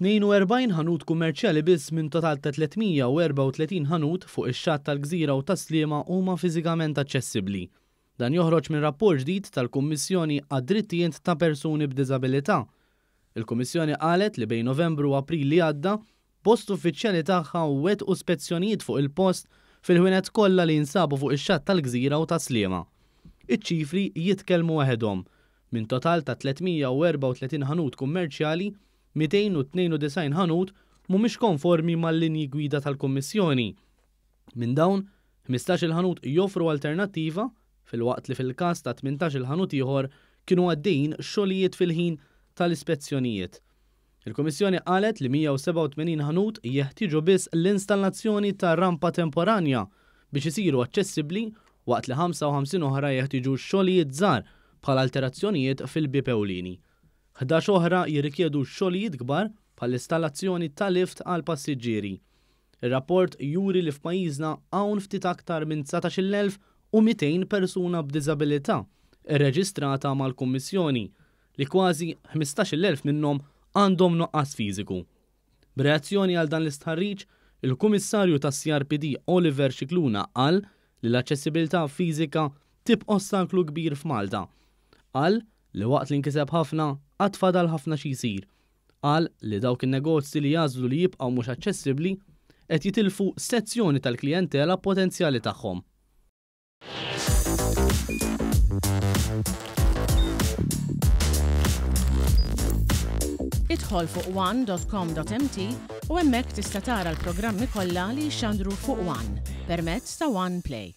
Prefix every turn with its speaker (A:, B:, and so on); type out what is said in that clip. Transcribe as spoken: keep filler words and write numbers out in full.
A: Tnejn u erbgħin ħanut kummerċjali biss minn total ta' tliet mija u erbgħa u tletin ħanut fuq ix-xatt tal-Gżira u Tas-Sliema huma fiżikament aċċessibbli. Dan joħroġ minn rapport ġdid tal-Kummissjoni għad-Drittijiet ta' Persuni b'Diżabilità. Il-Kummissjoni qalet li bejn Novembru u April li għadda, bost uffiċjali tagħha wettqu spezzjonijiet fuq il-post fil-ħwienet kollha li jinsabu fuq ix-xatt tal-Gżira u Tas-Sliema. Iċ-ċifri jitkellmu waħedhom. Minn total ta' tliet mija u erbgħa u tletin ħanut kummerċjali, mitejn u tnejn u disgħin ħanut mhumiex konformi mal-linji gwida tal-Kummissjoni. Minn dawn, ħmistax-il ħanut joffru alternattiva, filwaqt li fil-każ ta' tmintax-il ħanut ieħor kienu għaddejjin xogħlijiet fil-ħin tal-ispezzjonijiet. Il-Kummissjoni qalet li mija u sebgħa u tmenin ħanut jeħtieġu biss l-installazzjoni ta' rampa temporanja biex isiru aċċessibbli, waqt li ħamsa u ħamsin oħra jeħtieġu xogħlijiet żgħar bħal alterazzjonijiet fil-bieb ewlieni. Ħdax oħra jirrikjedu xogħlijiet kbar bħall-installazzjoni ta' lift għal passiġġieri. Ir-rapport juri li f'pajjiżna hawn ftit aktar minn dsatax-il elf u mitejn persuna b'diżabilità irreġistrata mal-Kummissjoni, li kważi ħmistax-il elf minnhom għandhom nuqqas fiżiku. B'reazzjoni għal dan l-istħarriġ, il-Kummissarju tas-C R P D Oliver Scicluna qal li l-aċċessibilità fiżika tibqa' ostaklu kbir f'Malta. Qal li waqt li nkiseb ħafna, għad fadal ħafna xi jsir. Qal li dawk in-negozji li jagħżlu li jibqgħu mhux aċċessibbli qed jitilfu sezzjoni tal-klijentela potenzjali tagħhom.
B: Idħol fuq one dot com dot M T u hemmhekk tista' tara l-programmi kollha li jixxandru fuq One permezz ta' One Play.